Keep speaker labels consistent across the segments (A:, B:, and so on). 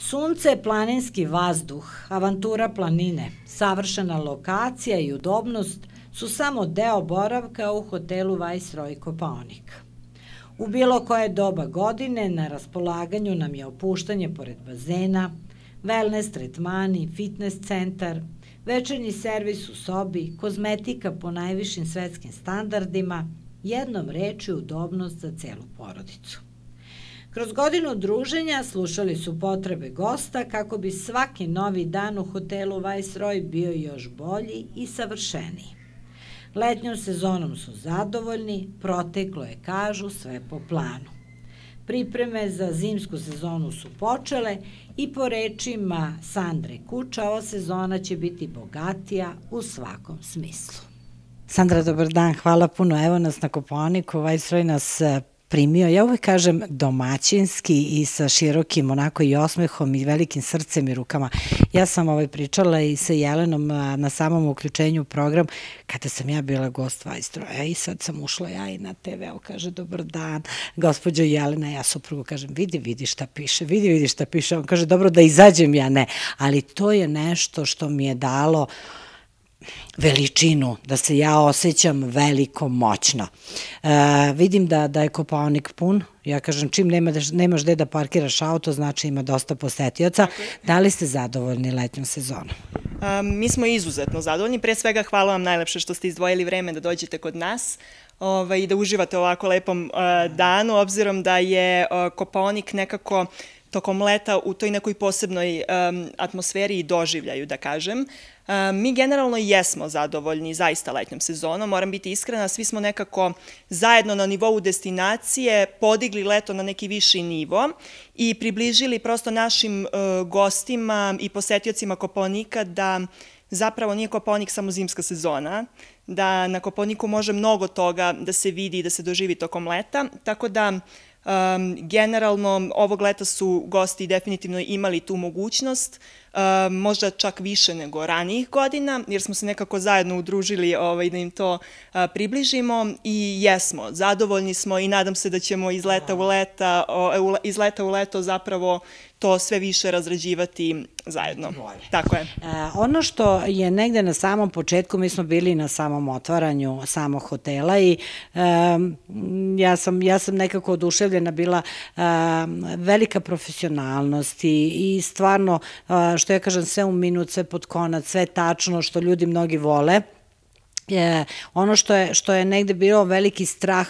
A: Sunce, planinski vazduh, avantura planine, savršena lokacija i udobnost su samo deo boravka u hotelu Viceroy Kopaonik. U bilo koje doba godine na raspolaganju nam je opuštanje pored bazena, wellness tretmani, fitness centar, večernji servis u sobi, kozmetika po najvišim svetskim standardima, jednom rečju udobnost za celu porodicu. Kroz godinu druženja slušali su potrebe gosta kako bi svaki novi dan u hotelu Viceroy bio još bolji i savršeniji. Letnjom sezonom su zadovoljni, proteklo je, kažu, sve po planu. Pripreme za zimsku sezonu su počele i po rečima Sandre Kuča ova sezona će biti bogatija u svakom smislu. Sandra, dobar dan, hvala puno. Evo nas na Kopaoniku, Viceroy nas primio, ja uvek kažem domaćinski i sa širokim onako i osmehom i velikim srcem i rukama. Ja sam pričala i sa Jelenom na samom uključenju u program kada sam ja bila gost Viceroya i sad sam ušla ja i na TV, kaže dobar dan, gospođo Jelena, ja suprugu kažem vidi šta piše, vidi šta piše, on kaže dobro da izađem, ja ne, ali to je nešto što mi je dalo veličinu, da se ja osjećam veliko, moćno. Vidim da je Kopaonik pun, ja kažem čim nemaš gde da parkiraš auto, znači ima dosta posetioca. Da li ste zadovoljni letnjom sezonom?
B: Mi smo izuzetno zadovoljni, pre svega hvala vam najlepše što ste izdvojili vreme da dođete kod nas i da uživate u ovako lepom danu, obzirom da je Kopaonik nekako tokom leta u toj nekoj posebnoj atmosferi i doživljaju, da kažem. Mi generalno jesmo zadovoljni zaista letnjom sezonom, moram biti iskrena, svi smo nekako zajedno na nivou destinacije podigli leto na neki viši nivo i približili prosto našim gostima i posetiocima Kopaonika da zapravo nije Kopaonik samo zimska sezona, da na Kopaoniku može mnogo toga da se vidi i da se doživi tokom leta, tako da generalno ovog leta su gosti definitivno imali tu mogućnost, možda čak više nego ranijih godina, jer smo se nekako zajedno udružili da im to približimo i jesmo, zadovoljni smo i nadam se da ćemo iz leta u leto zapravo to sve više razrađivati zajedno. Tako je.
A: Ono što je negde na samom početku, mi smo bili na samom otvaranju samog hotela i ja sam nekako oduševljena bila, velika profesionalnost i stvarno, što ja kažem, sve u minut, sve pod konac, sve tačno, što ljudi mnogi vole. Ono što je negde bilo veliki strah,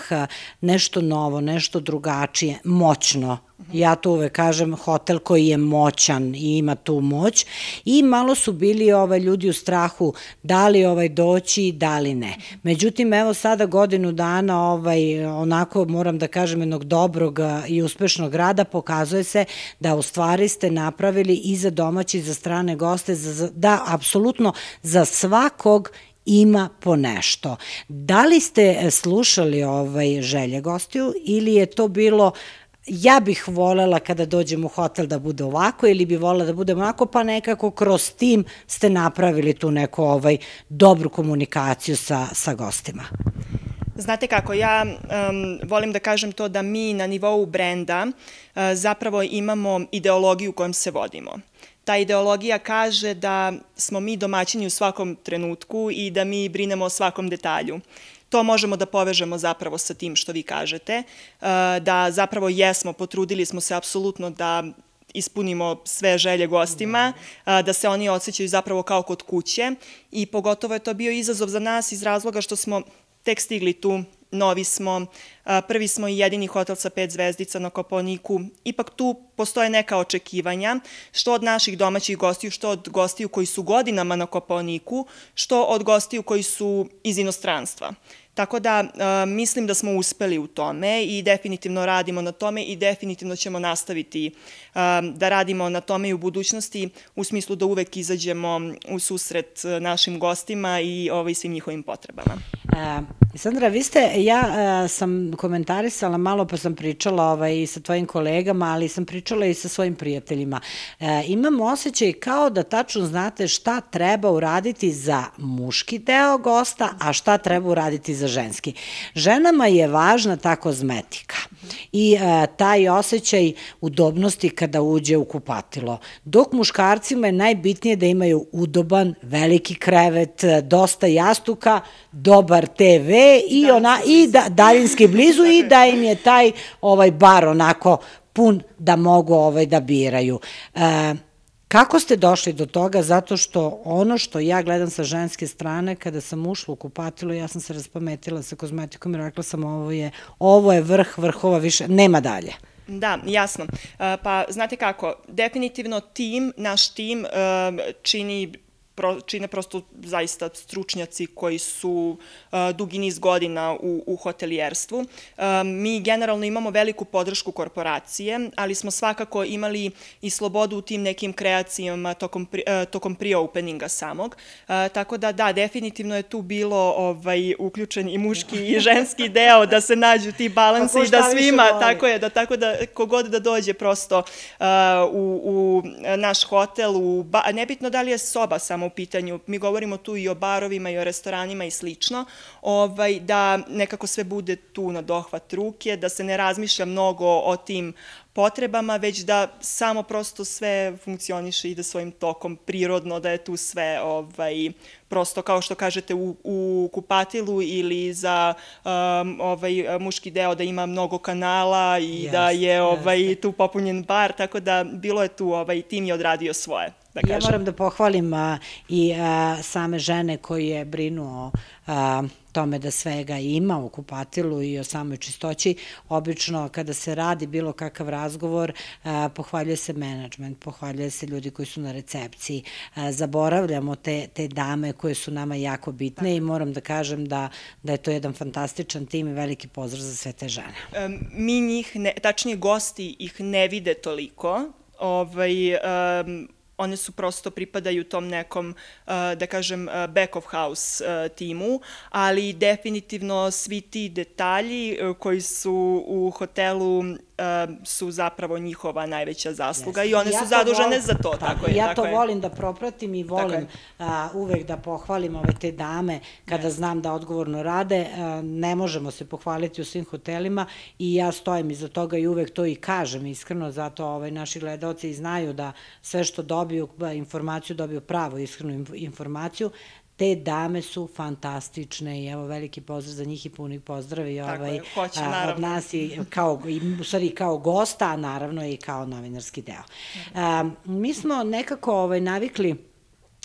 A: nešto novo, nešto drugačije, moćno. Ja to uvek kažem, hotel koji je moćan i ima tu moć i malo su bili ljudi u strahu da li doći, da li ne. Međutim, evo sada godinu dana, onako moram da kažem, jednog dobrog i uspešnog rada, pokazuje se da u stvari ste napravili i za domaći i za strane goste, da apsolutno za svakog ima po nešto. Da li ste slušali želje gostiju ili je to bilo ja bih volela kada dođem u hotel da bude ovako ili bi volela da bude onako, pa nekako kroz tim ste napravili tu neku dobru komunikaciju sa gostima?
B: Znate kako, ja volim da kažem to da mi na nivou brenda zapravo imamo ideologiju kojom se vodimo. Ta ideologija kaže da smo mi domaćini u svakom trenutku i da mi brinemo o svakom detalju. To možemo da povežemo zapravo sa tim što vi kažete, da zapravo jesmo, potrudili smo se apsolutno da ispunimo sve želje gostima, da se oni osjećaju zapravo kao kod kuće i pogotovo je to bio izazov za nas iz razloga što smo tek stigli tu, novi smo, prvi smo i jedini hotel sa 5 zvezdica na Kopaoniku. Ipak tu postoje neka očekivanja, što od naših domaćih gostiju, što od gostiju koji su godinama na Kopaoniku, što od gostiju koji su iz inostranstva. Tako da mislim da smo uspeli u tome i definitivno radimo na tome i definitivno ćemo nastaviti da radimo na tome i u budućnosti u smislu da uvek izađemo u susret našim gostima i svim njihovim potrebama.
A: Sandra, ja sam komentarisala malo pa sam pričala i sa tvojim kolegama, ali sam pričala i sa svojim prijateljima. Imam osjećaj kao da tačno znate šta treba uraditi za muški deo gosta, a šta treba uraditi za za ženski. Ženama je važna ta kozmetika i taj osjećaj udobnosti kada uđe u kupatilo. Dok muškarcima je najbitnije da imaju udoban, veliki krevet, dosta jastuka, dobar TV i daljinski blizu i da im je taj bar onako pun da mogu da biraju. Kako ste došli do toga? Zato što ono što ja gledam sa ženske strane, kada sam ušla u kupatilo, ja sam se raspametila sa kozmetikom i rekla sam ovo je vrh vrhova, više nema dalje.
B: Da, jasno. Pa znate kako, definitivno naš tim čine prosto zaista stručnjaci koji su dugi niz godina u hotelijerstvu. Mi generalno imamo veliku podršku korporacije, ali smo svakako imali i slobodu u tim nekim kreacijama tokom pre-openinga samog. Tako da, definitivno je tu bilo uključen i muški i ženski deo, da se nađu ti balansi i da svima, tako da kogod da dođe prosto u naš hotel, nebitno da li je soba samo u pitanju, mi govorimo tu i o barovima i o restoranima i slično, da nekako sve bude tu na dohvat ruke, da se ne razmišlja mnogo o tim potrebama, već da samo prosto sve funkcioniše i ide svojim tokom prirodno, da je tu sve prosto kao što kažete u kupatilu ili za muški deo da ima mnogo kanala i da je tu popunjen bar, tako da bilo je tu, tim je odradio svoje.
A: Ja moram da pohvalim i same žene koje brinu o tome da svega ima u kupatilu i o samoj čistoći. Obično kada se radi bilo kakav razgovor, pohvaljuje se menadžment, pohvaljuje se ljudi koji su na recepciji. Zaboravljamo te dame koje su nama jako bitne i moram da kažem da je to jedan fantastičan tim i veliki pozdrav za sve te žene.
B: Mi njih, tačnije gosti ih ne vide toliko, one su prosto pripadaju tom nekom, da kažem, back of house timu, ali definitivno svi ti detalji koji su u hotelu su zapravo njihova najveća zasluga i one su zadužene za to.
A: Ja to volim da propratim i volim uvek da pohvalim te dame kada znam da odgovorno rade. Ne možemo se pohvaliti u svim hotelima i ja stojim iza toga i uvek to i kažem iskreno, zato naši gledalci i znaju da sve što dobiju informaciju, dobiju pravu iskrenu informaciju. Te dame su fantastične i evo veliki pozdrav za njih i puni pozdrav i od nas i u stvari kao gosta, a naravno i kao novinarski deo. Mi smo nekako navikli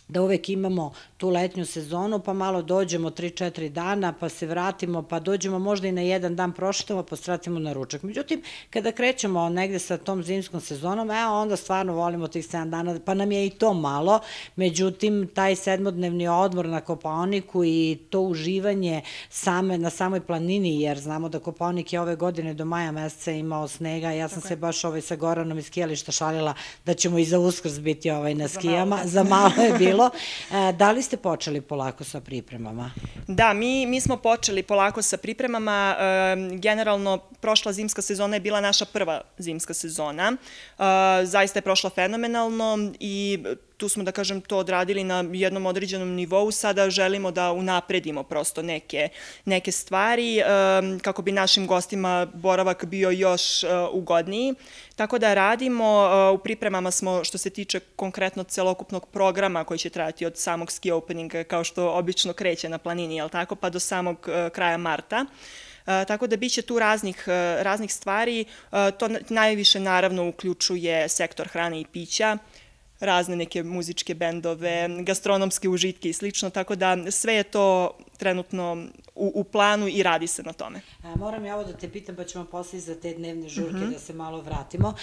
A: da uvek imamo tu letnju sezonu, pa malo dođemo 3-4 dana, pa se vratimo, pa dođemo možda i na jedan dan prošetamo, pa stratimo na ručak. Međutim, kada krećemo negde sa tom zimskom sezonom, onda stvarno volimo tih 7 dana, pa nam je i to malo. Međutim, taj 7-dnevni odmor na Kopaoniku i to uživanje na samoj planini, jer znamo da Kopaonik je ove godine do maja meseca imao snega, ja sam se baš sa Goranom iz skijališta šalila da ćemo i za Uskrs biti na skijama, za malo je bilo. Da li ste počeli polako sa pripremama?
B: Da, mi smo počeli polako sa pripremama. Generalno, prošla zimska sezona je bila naša prva zimska sezona. Zaista je prošla fenomenalno i tu smo, da kažem, to odradili na jednom određenom nivou. Sada želimo da unapredimo prosto neke stvari kako bi našim gostima boravak bio još ugodniji. Tako da radimo, u pripremama smo što se tiče konkretno celokupnog programa koji će trajati od samog ski openinga kao što obično kreće na planini, jel tako, pa do samog kraja marta. Tako da biće tu raznih stvari. To najviše naravno uključuje sektor hrane i pića, razne neke muzičke bendove, gastronomske užitke i slično, tako da sve je to trenutno u planu i radi se na tome.
A: Moram ja ovo da te pitam, pa ćemo posle za te dnevne žurke da se malo vratimo.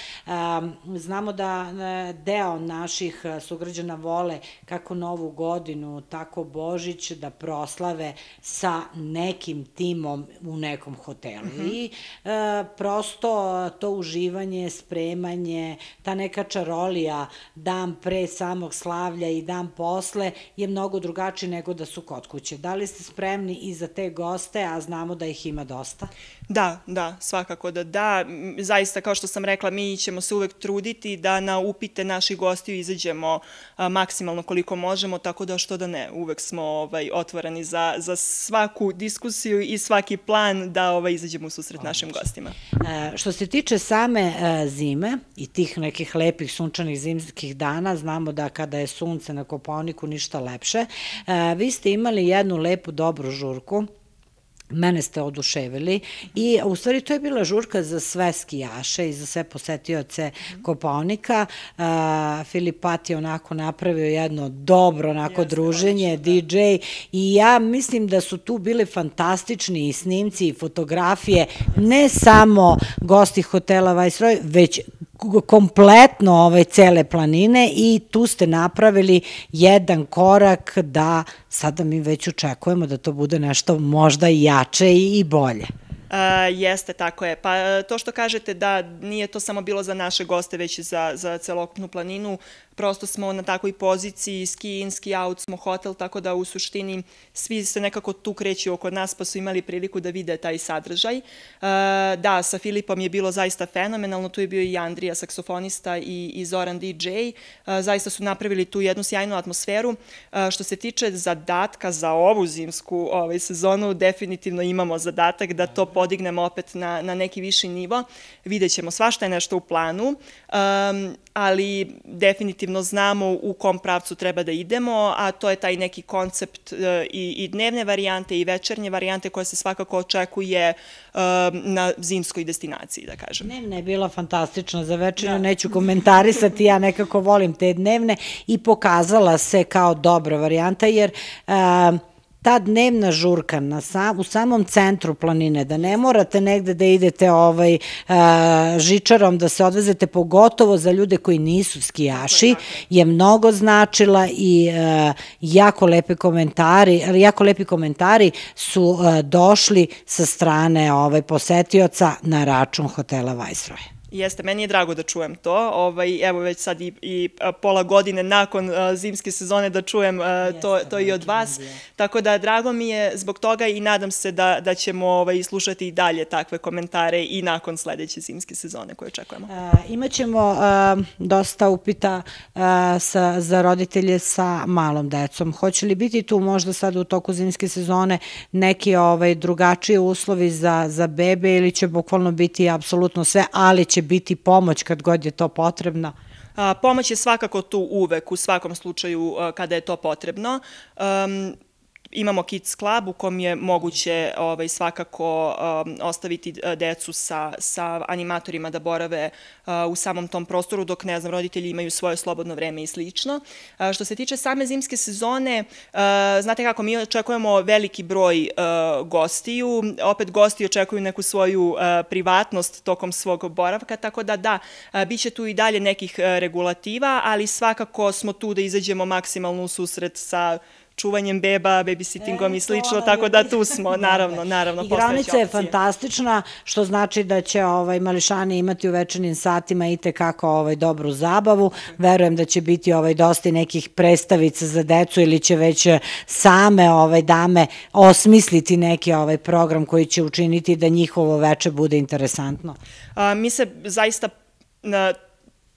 A: Znamo da deo naših sugrađana vole kako Novu godinu, tako Božić da proslave sa nekim timom u nekom hotelu. I prosto to uživanje, spremanje, ta neka čarolija, dan pre samog slavlja i dan posle je mnogo drugačiji nego da su kod kuće. Da li ste spremni i za te goste, a znamo da ih ima dosta?
B: Da, svakako da. Zaista, kao što sam rekla, mi ćemo se uvek truditi da na upite naših gostiju izađemo maksimalno koliko možemo, tako da što da ne, uvek smo otvoreni za svaku diskusiju i svaki plan da izađemo u susret našim gostima.
A: Što se tiče same zime i tih nekih lepih sunčanih zimskih dana, znamo da kada je sunce na Kopaoniku ništa lepše, vi ste imali jednu lepu, dobru žurku. Mene ste oduševili i u stvari to je bila žurka za sve skijaše i za sve posetioce Kopaonika. Filip Pat je onako napravio jedno dobro onako druženje, DJ, i ja mislim da su tu bili fantastični i snimci i fotografije, ne samo gosti hotela Viceroy, već kompletno cele planine, i tu ste napravili jedan korak da sada mi već očekujemo da to bude nešto možda jače i bolje.
B: Jeste, tako je. Pa to što kažete da nije to samo bilo za naše goste, već i za celokupnu planinu, prosto smo na takvoj poziciji, ski in, ski out smo hotel, tako da u suštini svi se nekako tu kreću oko nas, pa su imali priliku da vide taj sadržaj. Da, sa Filipom je bilo zaista fenomenalno, tu je bio i Andrija, saksofonista, i Zoran DJ. Zaista su napravili tu jednu sjajnu atmosferu. Što se tiče zadatka za ovu zimsku sezonu, definitivno imamo zadatak da to podignemo opet na neki viši nivo. Vidjet ćemo, svašta je nešto u planu, ali definitivno znamo u kom pravcu treba da idemo, a to je taj neki koncept i dnevne varijante i večernje varijante koja se svakako očekuje na zimskoj destinaciji, da kažem.
A: Dnevna je bila fantastična, za večernju neću komentarisati, ja nekako volim te dnevne, i pokazala se kao dobra varijanta, jer ta dnevna žurka u samom centru planine, da ne morate negde da idete žičarom, da se odvezete, pogotovo za ljude koji nisu skijaši, je mnogo značila, i jako lepi komentari su došli sa strane posetioca na račun hotela Viceroy.
B: Jeste, meni je drago da čujem to. Evo već sad i pola godine nakon zimske sezone da čujem to i od vas. Tako da drago mi je zbog toga i nadam se da ćemo slušati i dalje takve komentare i nakon sledeće zimske sezone koje očekujemo.
A: Imaćemo dosta upita za roditelje sa malom decom. Hoće li biti tu možda sad u toku zimske sezone neki drugačiji uslovi za bebe, ili će bukvalno biti apsolutno sve, ali će biti pomoć kad god je to potrebno?
B: Pomoć je svakako tu uvek, u svakom slučaju kada je to potrebno. Imamo Kids Club u kom je moguće svakako ostaviti decu sa animatorima da borave u samom tom prostoru, dok, ne znam, roditelji imaju svoje slobodno vreme i slično. Što se tiče same zimske sezone, znate kako, mi očekujemo veliki broj gostiju, opet gosti očekuju neku svoju privatnost tokom svog boravka, tako da, bit će tu i dalje nekih regulativa, ali svakako smo tu da izađemo maksimalno u susret sa čuvanjem beba, babysittingom i slično, tako da tu smo, naravno.
A: Igraonica je fantastična, što znači da će mališani imati u večernjim satima i tekako dobru zabavu. Verujem da će biti dosta nekih predstavica za decu, ili će već same dame osmisliti neki program koji će učiniti da njihovo veče bude interesantno.
B: Mi se zaista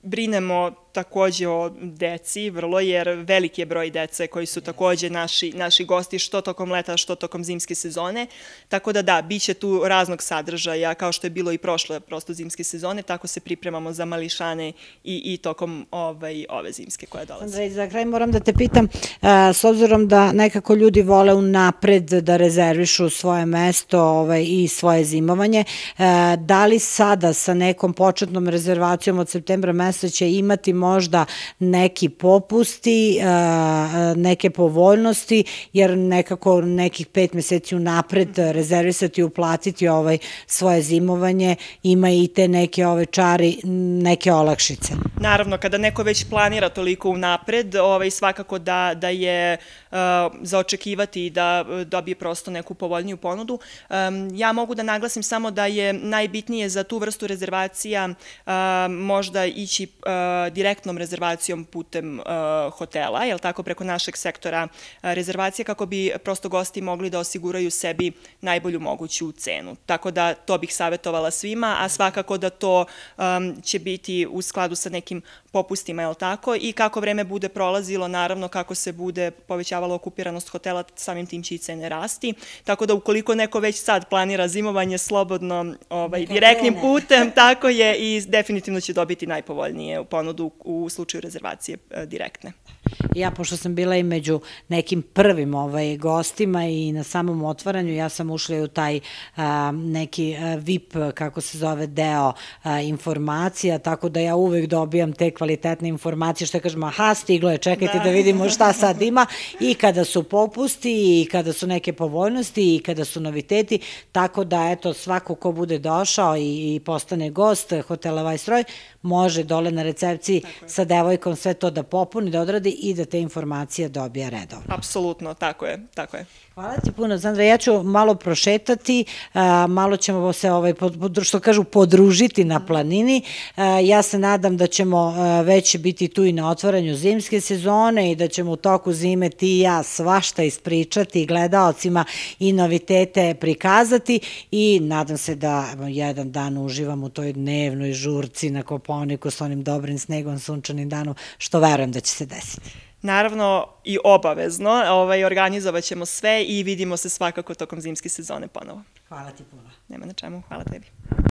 B: brinemo takođe o deci, vrlo, jer veliki je broj dece koji su takođe naši gosti, što tokom leta, što tokom zimske sezone, tako da, bit će tu raznog sadržaja, kao što je bilo i prošle prosto zimske sezone, tako se pripremamo za mališane i tokom ove zimske koje dolaze.
A: Andrej, za kraj moram da te pitam, s obzirom da nekako ljudi vole unapred da rezervišu svoje mesto i svoje zimovanje, da li sada sa nekom početnom rezervacijom od septembra meseca će imati možda neki popusti, neke povoljnosti, jer nekako nekih 5 meseci unapred rezervisati i uplatiti svoje zimovanje ima i te neke čari, neke olakšice.
B: Naravno, kada neko već planira toliko unapred, svakako da je za očekivati i da dobije prosto neku povoljniju ponudu. Ja mogu da naglasim samo da je najbitnije za tu vrstu rezervacija možda ići direktno direktnom rezervacijom putem hotela, jel tako, preko našeg sektora rezervacije, kako bi prosto gosti mogli da osiguraju sebi najbolju moguću cenu. Tako da to bih savjetovala svima, a svakako da to će biti u skladu sa nekim popustima, jel tako, i kako vreme bude prolazilo, naravno kako se bude povećavala okupiranost hotela, samim tim će i cene rasti. Tako da ukoliko neko već sad planira zimovanje slobodno direktnim putem, tako je, i definitivno će dobiti najpovoljnije ponudu u slučaju rezervacije direktne.
A: Ja, pošto sam bila i među nekim prvim gostima i na samom otvaranju, ja sam ušla u taj neki VIP, kako se zove, deo informacija, tako da ja uvek dobijam te kvalitetne informacije, što kažem, aha, stiglo je, čekajte da vidimo šta sad ima, i kada su popusti, i kada su neke povoljnosti, i kada su noviteti, tako da, eto, svako ko bude došao i postane gost hotela Viceroy, može dole na recepciji sa devojkom sve to da popuni, da odradi i da te informacije dobija redovno.
B: Apsolutno, tako je, tako je.
A: Hvala ti puno, Sandra. Ja ću malo prošetati, malo ćemo se, što kažu, podružiti na planini. Ja se nadam da ćemo već biti tu i na otvaranju zimske sezone i da ćemo u toku zime ti i ja svašta ispričati, gledaocima i novitete prikazati, i nadam se da jedan dan uživam u toj dnevnoj žurci na Kopaoniku s onim dobrim snegom, sunčanim danom, što verujem da će se desiti.
B: Naravno i obavezno, organizovat ćemo sve i vidimo se svakako tokom zimske sezone ponovo.
A: Hvala ti puno.
B: Nema na čemu, hvala tebi.